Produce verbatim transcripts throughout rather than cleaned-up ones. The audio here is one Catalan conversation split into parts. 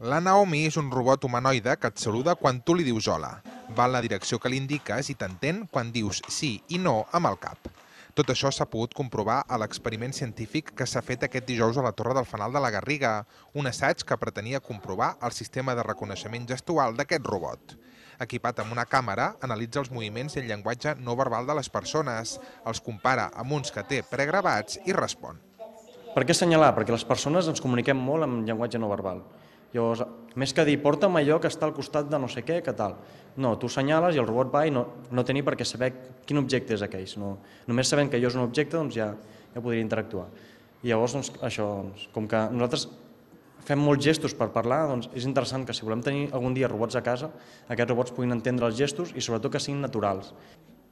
La Naomi és un robot humanoide que et saluda quan tu li dius hola. Va en la direcció que li indiques i t'entén quan dius sí i no amb el cap. Tot això s'ha pogut comprovar a l'experiment científic que s'ha fet aquest dijous a la Torre del Fanal de la Garriga, un assaig que pretenia comprovar el sistema de reconeixement gestual d'aquest robot. Equipat amb una càmera, analitza els moviments i el llenguatge no verbal de les persones, els compara amb uns que té pregravats i respon. Per què assenyalar? Perquè les persones ens comuniquem molt amb llenguatge no verbal. Llavors, més que dir, porta'm allò que està al costat de no sé què, què tal. No, tu assenyales i el robot va i no, no té ni per què saber quin objecte és aquell. No, només sabent que allò és un objecte, doncs ja, ja podria interactuar. I llavors, doncs, això, doncs, com que nosaltres fem molts gestos per parlar, doncs és interessant que si volem tenir algun dia robots a casa, aquests robots puguin entendre els gestos i sobretot que siguin naturals.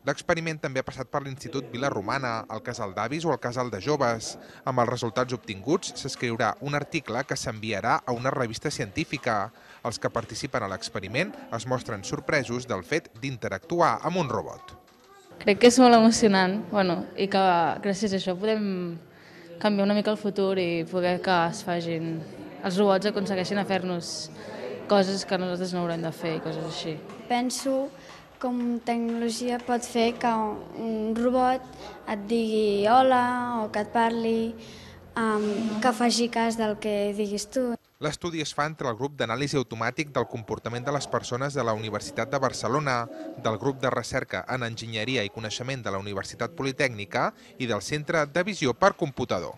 L'experiment també ha passat per l'Institut Vila Romana, el Casal d'Avis o el Casal de Joves. Amb els resultats obtinguts s'escriurà un article que s'enviarà a una revista científica. Els que participen a l'experiment es mostren sorpresos del fet d'interactuar amb un robot. Crec que és molt emocionant, bueno, i que gràcies a això podem canviar una mica el futur i poder que es facin, els robots aconsegueixin a fer-nos coses que nosaltres no haurem de fer i coses així. Penso com tecnologia pot fer que un robot et digui hola o que et parli, um, que faci cas del que diguis tu. L'estudi es fa entre el grup d'anàlisi automàtic del comportament de les persones de la Universitat de Barcelona, del grup de recerca en enginyeria i coneixement de la Universitat Politècnica i del Centre de Visió per Computador.